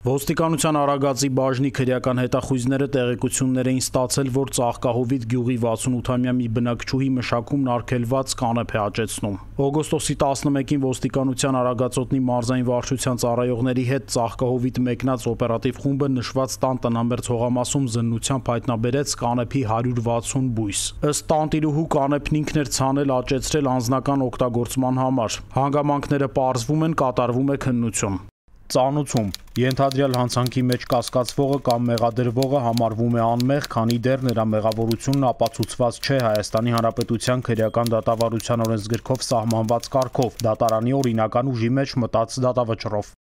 Ոստիկանության Արագածի բաժնի քրեական հետախույզները տեղեկություններ էին ստացել, որ Ծաղկահովիտ գյուղի 68-ամյա մի բնակչուհի մշակումն արգելված կանեփ է աճեցնում։ Օգոստոսի 11-ին ոստիկանության Արագածոտնի մարզային վարչության ծառայողների հետ Ծաղկահովիտ մեկնած օպերատիվ խումբը նշված տան տնամերձ հողամասում զննությամբ հայտնաբերեց կանեփի 160 բույս։ Ըստ տանտիրուհու կանեփն ինքն էր ցանել աճեցրել անձնական օգտագործման համար։ Հանգամանքները պարզվում են, կատարվում է քննություն։ Ծանուցում ենթադրյալ հանցանքի մեջ կասկածվողը կամ մեղադրվողը համարվում է անմեղ, քանի դեռ նրա մեղավորությունն ապացուցված չէ Հայաստանի Հանրապետության քրեական դատավարության օրենսգրքով սահմանված կարգով, դատարանի օրինական ուժի մեջ մտած դատավճռով։